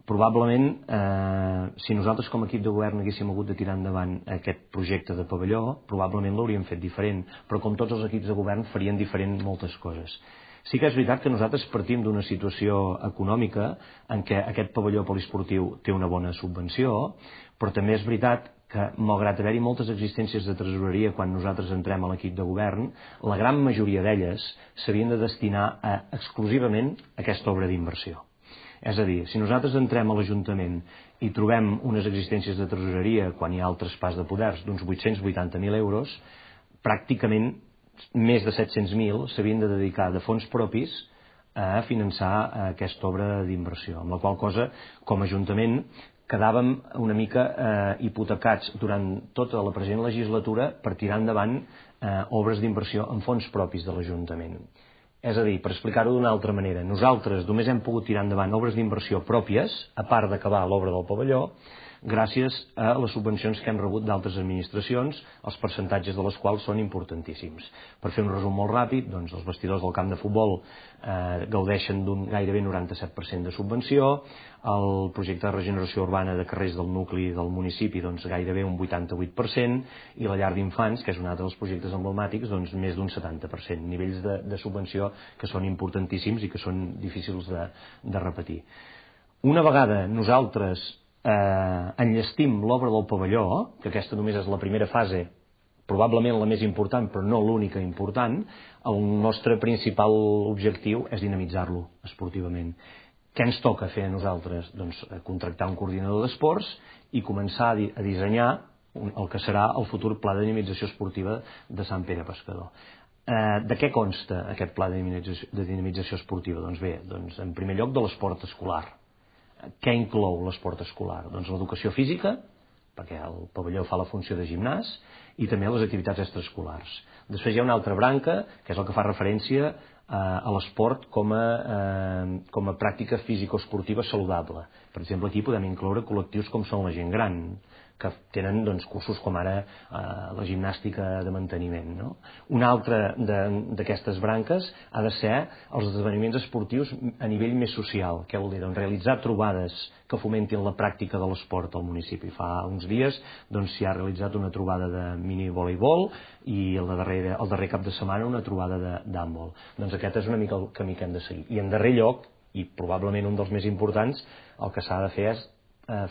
Probablement, eh, si nosaltres com a equip de govern haguéssim hagut de tirar endavant aquest projecte de pavelló, probablement l'hauríem fet diferent, però com tots els equips de govern farien diferent moltes coses. Sí que és veritat que nosaltres partim d'una situació econòmica en què aquest pavelló poliesportiu té una bona subvenció, però també és veritat que, malgrat haver-hi moltes existències de tresoreria quan nosaltres entrem a l'equip de govern, la gran majoria d'elles s'havien de destinar a, exclusivament a aquesta obra d'inversió. És a dir, si nosaltres entrem a l'Ajuntament i trobem unes existències de tresoreria quan hi ha el traspàs de poders d'uns vuit-cents vuitanta mil euros, pràcticament més de set-cents mil s'havien de dedicar de fons propis a finançar aquesta obra d'inversió, amb la qual cosa, com a Ajuntament, quedàvem una mica eh, hipotecats durant tota la present legislatura per tirar endavant eh, obres d'inversió en fons propis de l'Ajuntament. És a dir, per explicar-ho d'una altra manera, nosaltres només hem pogut tirar endavant obres d'inversió pròpies, a part d'acabar l'obra del pavelló, gràcies a les subvencions que hem rebut d'altres administracions, els percentatges de les quals són importantíssims. Per fer un resum molt ràpid, doncs els vestidors del camp de futbol eh, gaudeixen d'un gairebé noranta-set per cent de subvenció, el projecte de regeneració urbana de carrers del nucli del municipi doncs gairebé un vuitanta-vuit per cent i la llar d'infants, que és un altre dels projectes emblemàtics, doncs més d'un setanta per cent, nivells de, de subvenció que són importantíssims i que són difícils de, de repetir. Una vegada nosaltres Eh, enllestim l'obra del pavelló, que aquesta només és la primera fase, probablement la més important però no l'única important, el nostre principal objectiu és dinamitzar-lo esportivament. Què ens toca fer a nosaltres? Doncs contractar un coordinador d'esports i començar a, di a dissenyar el que serà el futur pla de dinamització esportiva de Sant Pere Pescador. Eh, de què consta aquest pla de dinamització, de dinamització esportiva? Doncs bé, doncs en primer lloc de l'esport escolar. Què inclou l'esport escolar? Doncs l'educació física, perquè el pavelló fa la funció de gimnàs, i també les activitats extraescolars. Després hi ha una altra branca, que és el que fa referència a l'esport com a, com a pràctica físico-esportiva saludable. Per exemple, aquí podem incloure col·lectius com són la gent gran, que tenen doncs, cursos com ara eh, la gimnàstica de manteniment. No? Una altra d'aquestes branques ha de ser els esdeveniments esportius a nivell més social. Què vol dir? Doncs, realitzar trobades que fomentin la pràctica de l'esport al municipi. Fa uns dies doncs, s'hi ha realitzat una trobada de mini-voleibol i el darrer, el darrer cap de setmana una trobada d'handbol. Doncs aquest és una mica el camí que hem de seguir. I en darrer lloc, i probablement un dels més importants, el que s'ha de fer és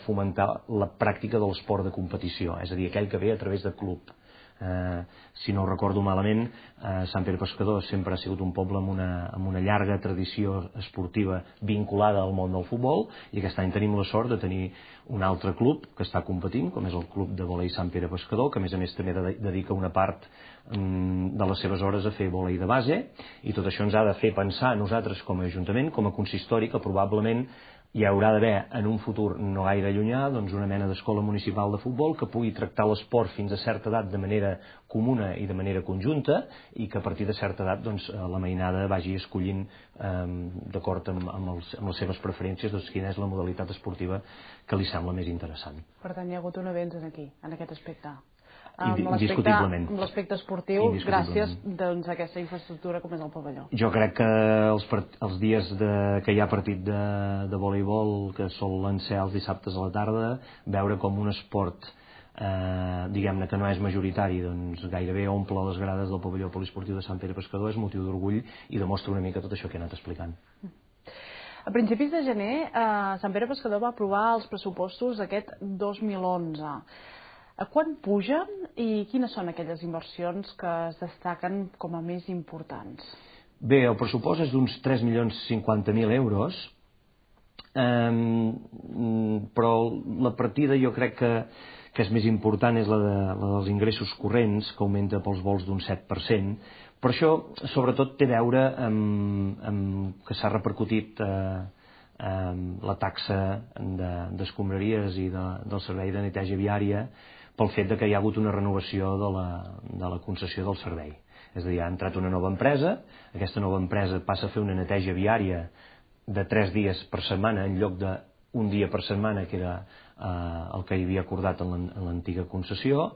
fomentar la pràctica de l'esport de competició, és a dir, aquell que ve a través de club. Eh, si no ho recordo malament, eh, Sant Pere Pescador sempre ha sigut un poble amb una, amb una llarga tradició esportiva vinculada al món del futbol, i aquest any tenim la sort de tenir un altre club que està competint, com és el Club de Vòlei Sant Pere Pescador, que a més a més també dedica una part mm, de les seves hores a fer vòlei de base, i tot això ens ha de fer pensar nosaltres com a Ajuntament, com a consistori, que probablement hi haurà d'haver en un futur no gaire llunyà doncs una mena d'escola municipal de futbol que pugui tractar l'esport fins a certa edat de manera comuna i de manera conjunta, i que a partir de certa edat doncs, la mainada vagi escollint eh, d'acord amb, amb, els, amb les seves preferències doncs, quina és la modalitat esportiva que li sembla més interessant. Per tant, hi ha hagut un avenç aquí, en aquest aspecte. Indiscutiblement. Amb l'aspecte esportiu, gràcies doncs, a aquesta infraestructura com és el pavelló. Jo crec que els, els dies de, que hi ha partit de, de voleibol, que solen ser els dissabtes a la tarda, veure com un esport eh, diguem-ne que no és majoritari, doncs gairebé omple les grades del pavelló poliesportiu de Sant Pere Pescador és motiu d'orgull i demostra una mica tot això que he anat explicant. A principis de gener, eh, Sant Pere Pescador va aprovar els pressupostos d'aquest dos mil onze. A quan pugen i quines són aquelles inversions que es destaquen com a més importants? Bé, el pressupost és d'uns tres milions cinquanta mil euros, eh, però la partida jo crec que, que és més important és la, de, la dels ingressos corrents, que augmenta pels vols d'un set per cent. Per això, sobretot, té a veure amb, amb que s'ha repercutit eh, la taxa d'escombraries i de, del servei de neteja viària pel fet de que hi ha hagut una renovació de la, de la concessió del servei. És a dir, ha entrat una nova empresa, aquesta nova empresa passa a fer una neteja viària de tres dies per setmana en lloc d'un dia per setmana, que era eh, el que hi havia acordat en l'antiga concessió.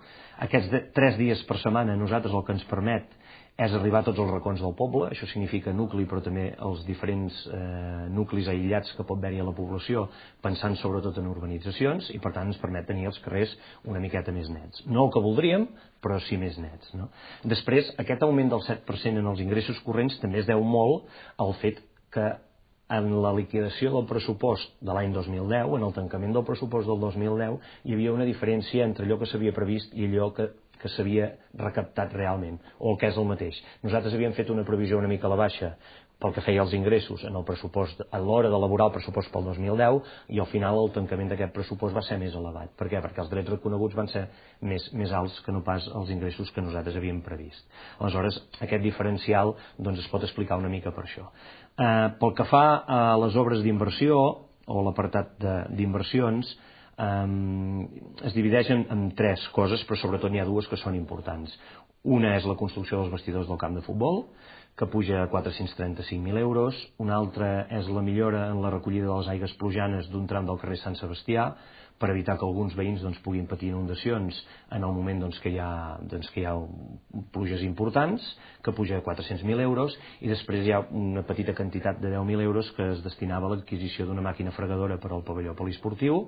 Aquests de, tres dies per setmana a nosaltres el que ens permet és arribar a tots els racons del poble, això significa nucli, però també els diferents eh, nuclis aïllats que pot haver-hi a la població, pensant sobretot en urbanitzacions, i per tant ens permet tenir els carrers una miqueta més nets. No el que voldríem, però sí més nets. No? Després, aquest augment del set per cent en els ingressos corrents també es deu molt al fet que en la liquidació del pressupost de l'any dos mil deu, en el tancament del pressupost del dos mil deu, hi havia una diferència entre allò que s'havia previst i allò que que s'havia recaptat realment, o el que és el mateix. Nosaltres havíem fet una previsió una mica a la baixa pel que feia els ingressos en el pressupost a l'hora d'elaborar el pressupost pel dos mil deu, i al final el tancament d'aquest pressupost va ser més elevat. Per què? Perquè els drets reconeguts van ser més, més alts que no pas els ingressos que nosaltres havíem previst. Aleshores, aquest diferencial doncs, es pot explicar una mica per això. Eh, pel que fa a les obres d'inversió, o l'apartat d'inversions, Um, es divideixen en tres coses, però sobretot n'hi ha dues que són importants. Una és la construcció dels vestidors del camp de futbol, que puja a quatre-cents trenta-cinc mil euros. Una altra és la millora en la recollida de les aigues plujanes d'un tram del carrer Sant Sebastià, per evitar que alguns veïns doncs, puguin patir inundacions en el moment doncs, que, hi ha, doncs, que hi ha pluges importants, que puja a quatre-cents mil euros, i després hi ha una petita quantitat de deu mil euros que es destinava a l'adquisició d'una màquina fregadora per al pavelló poliesportiu,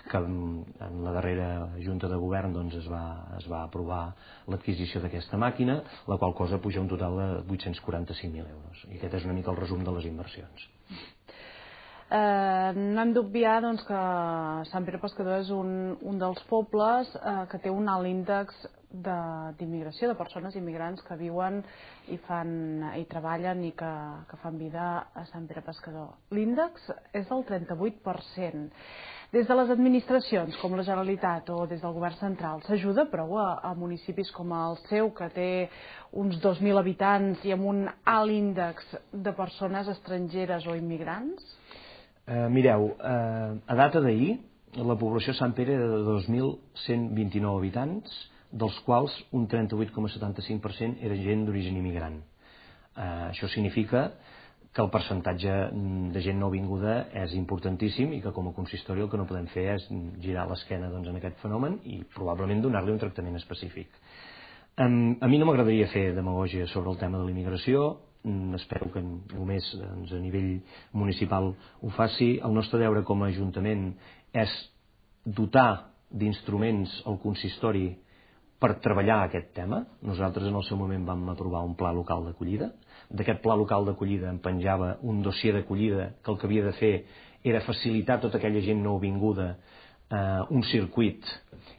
que en la darrera Junta de Govern doncs, es, va, es va aprovar l'adquisició d'aquesta màquina, la qual cosa puja un total de vuit-cents quaranta-cinc mil euros. I aquest és una mica el resum de les inversions. Eh, no hem d'obviar doncs, que Sant Pere Pescador és un, un dels pobles eh, que té un alt índex d'immigració, de, de persones immigrants que viuen i, fan, i treballen i que, que fan vida a Sant Pere Pescador. L'índex és del trenta-vuit per cent. Des de les administracions, com la Generalitat o des del Govern central, s'ajuda prou a, a municipis com el seu, que té uns dos mil habitants i amb un alt índex de persones estrangeres o immigrants? Eh, mireu, eh, a data d'ahir, la població de Sant Pere era de dos mil cent vint-i-nou habitants, dels quals un trenta-vuit coma setanta-cinc per cent era gent d'origen immigrant. Uh, això significa que el percentatge de gent nouvinguda és importantíssim i que com a consistori el que no podem fer és girar l'esquena doncs, en aquest fenomen i probablement donar-li un tractament específic. Um, a mi no m'agradaria fer demagògia sobre el tema de la immigració, um, espero que només doncs, a nivell municipal ho faci. El nostre deure com a Ajuntament és dotar d'instruments al consistori per treballar aquest tema. Nosaltres en el seu moment vam aprovar un pla local d'acollida. D'aquest pla local d'acollida en penjava un dossier d'acollida que el que havia de fer era facilitar a tota aquella gent nouvinguda eh, un circuit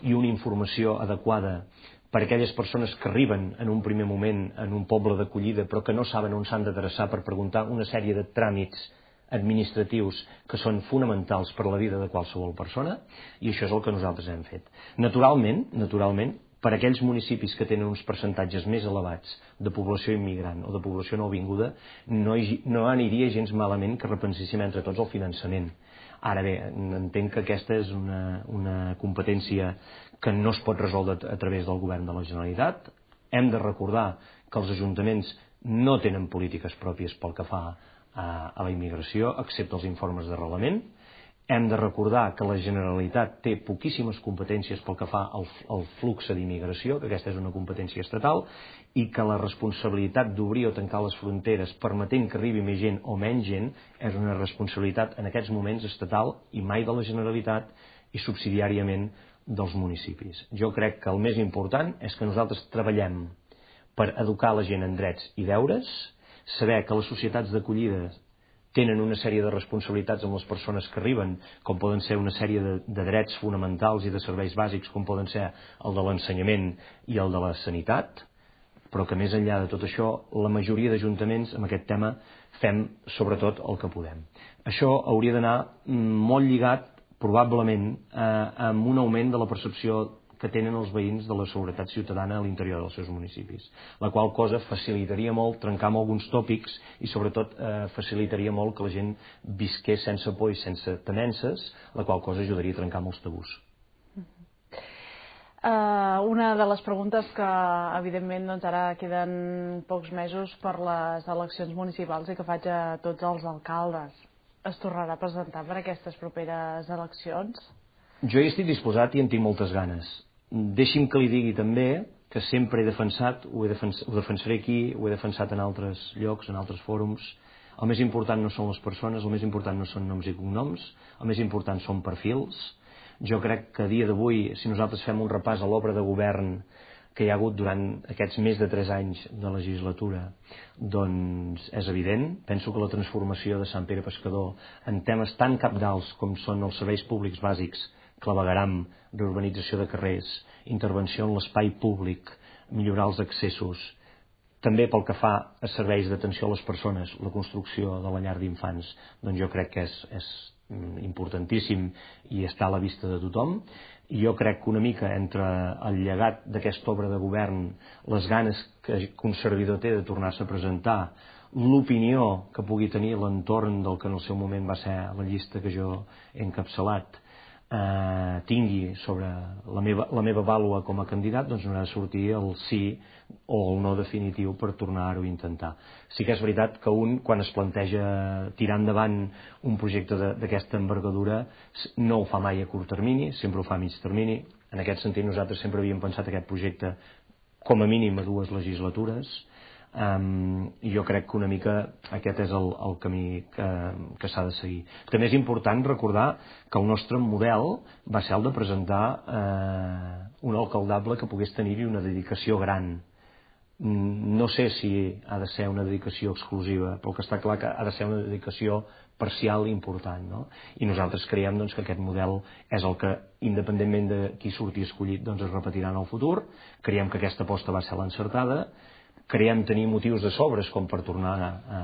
i una informació adequada per a aquelles persones que arriben en un primer moment en un poble d'acollida però que no saben on s'han d'adreçar per preguntar una sèrie de tràmits administratius que són fonamentals per a la vida de qualsevol persona, i això és el que nosaltres hem fet. Naturalment, naturalment, per a aquells municipis que tenen uns percentatges més elevats de població immigrant o de població nouvinguda, no, hi, no aniria gens malament que repenséssim entre tots el finançament. Ara bé, entenc que aquesta és una, una competència que no es pot resoldre a través del govern de la Generalitat. Hem de recordar que els ajuntaments no tenen polítiques pròpies pel que fa a, a la immigració, excepte els informes d'arrelament. Hem de recordar que la Generalitat té poquíssimes competències pel que fa al, al flux d'immigració, que aquesta és una competència estatal, i que la responsabilitat d'obrir o tancar les fronteres permetent que arribi més gent o menys gent és una responsabilitat en aquests moments estatal i mai de la Generalitat i subsidiàriament dels municipis. Jo crec que el més important és que nosaltres treballem per educar la gent en drets i deures, saber que les societats d'acollida tenen una sèrie de responsabilitats amb les persones que arriben, com poden ser una sèrie de, de drets fonamentals i de serveis bàsics, com poden ser el de l'ensenyament i el de la sanitat, però que més enllà de tot això, la majoria d'ajuntaments amb aquest tema fem sobretot el que podem. Això hauria d'anar molt lligat, probablement, eh, amb un augment de la percepció que tenen els veïns de la seguretat ciutadana a l'interior dels seus municipis, la qual cosa facilitaria molt trencar amb alguns tòpics i sobretot eh, facilitaria molt que la gent visqués sense por i sense temences, la qual cosa ajudaria a trencar molts tabús. Uh, una de les preguntes que evidentment doncs, ara queden pocs mesos per les eleccions municipals i que faig a tots els alcaldes. Es tornarà a presentar per aquestes properes eleccions? Jo hi estic disposat i en tinc moltes ganes. Deixi'm que li digui també que sempre he defensat, ho, he defens, ho defensaré aquí, ho he defensat en altres llocs, en altres fòrums. El més important no són les persones, el més important no són noms i cognoms, el més important són perfils. Jo crec que a dia d'avui, si nosaltres fem un repàs a l'obra de govern que hi ha hagut durant aquests més de tres anys de legislatura, doncs és evident. Penso que la transformació de Sant Pere Pescador en temes tan cabdals com són els serveis públics bàsics, clavegueram, reurbanització de carrers, intervenció en l'espai públic, millorar els accessos, també pel que fa a serveis d'atenció a les persones, la construcció de la llar d'infants, doncs jo crec que és, és importantíssim i està a la vista de tothom. I jo crec que una mica entre el llegat d'aquesta obra de govern, les ganes que un servidor té de tornar-se a presentar, l'opinió que pugui tenir l'entorn del que en el seu moment va ser la llista que jo he encapçalat, Eh, tingui sobre la meva, la meva vàlua com a candidat, doncs no ha de sortir el sí o el no definitiu per tornar-ho a intentar. Sí que és veritat que un, quan es planteja tirar endavant un projecte d'aquesta envergadura, no ho fa mai a curt termini, sempre ho fa a mig termini. En aquest sentit nosaltres sempre havíem pensat aquest projecte com a mínim a dues legislatures. Um, i jo crec que una mica aquest és el, el camí que, que s'ha de seguir. També és important recordar que el nostre model va ser el de presentar eh, un alcaldable que pogués tenir-hi una dedicació gran. No sé si ha de ser una dedicació exclusiva, però que està clar que ha de ser una dedicació parcial important, no? I nosaltres creiem doncs, que aquest model és el que, independentment de qui surti escollit, doncs es repetirà en el futur. Creiem que aquesta aposta va ser l'encertada. Creiem tenir motius de sobres com per tornar a,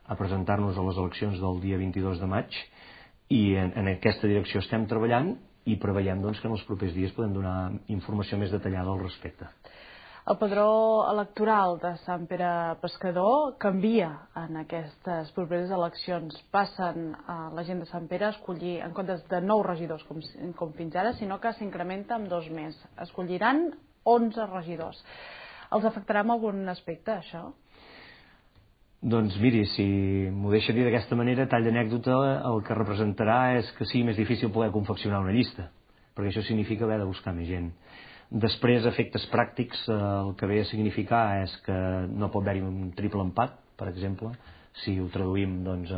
a presentar-nos a les eleccions del dia vint-i-dos de maig i en, en aquesta direcció estem treballant i preveiem doncs, que en els propers dies podem donar informació més detallada al respecte. El padró electoral de Sant Pere Pescador canvia en aquestes properes eleccions. Passen a la gent de Sant Pere a escollir, en comptes de nou regidors com, com fins ara, sinó que s'incrementa amb dos més. Escolliran onze regidors. Els afectarà en algun aspecte, això? Doncs miri, si m'ho deixa dir d'aquesta manera, tall d'anècdota, el que representarà és que sigui més difícil poder confeccionar una llista, perquè això significa haver de buscar més gent. Després, efectes pràctics, el que ve a significar és que no pot haver-hi un triple empat, per exemple, si ho traduïm doncs,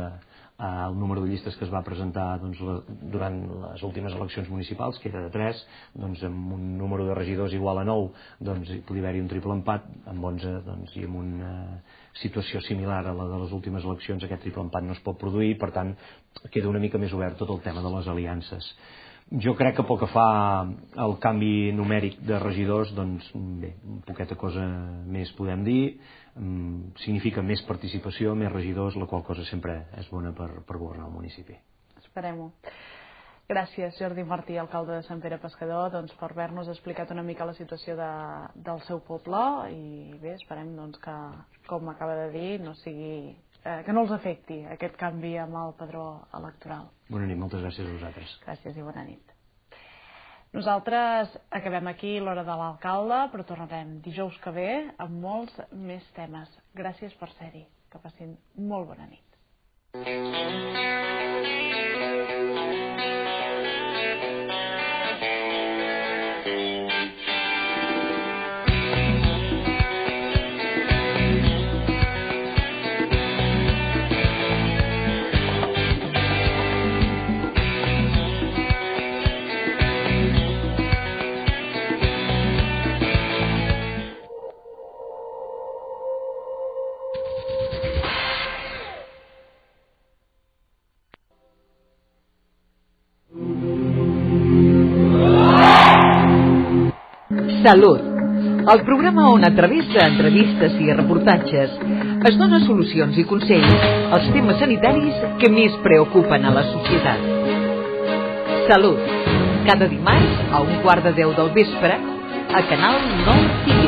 al número de llistes que es va presentar doncs, la, durant les últimes eleccions municipals, que era de tres, doncs, amb un número de regidors igual a nou, doncs, hi podria haver-hi un triple empat, amb onze, doncs, i amb una situació similar a la de les últimes eleccions, aquest triple empat no es pot produir, per tant, queda una mica més obert tot el tema de les aliances. Jo crec que pel que fa al canvi numèric de regidors, doncs bé, poqueta cosa més podem dir, significa més participació, més regidors, la qual cosa sempre és bona per, per governar el municipi. Esperem-ho. Gràcies, Jordi Martí, alcalde de Sant Pere Pescador, doncs, per haver-nos explicat una mica la situació de, del seu poble i bé, esperem doncs, que, com acaba de dir, no sigui... que no els afecti aquest canvi amb el padró electoral. Bona nit, moltes gràcies a vosaltres. Gràcies i bona nit. Nosaltres acabem aquí l'hora de l'alcalde, però tornarem dijous que ve amb molts més temes. Gràcies per ser-hi. Que passin molt bona nit. Salut, el programa on a través d'entrevistes i reportatges es dona solucions i consells als temes sanitaris que més preocupen a la societat. Salut, cada dimarts a un quart de deu del vespre a Canal nou T V.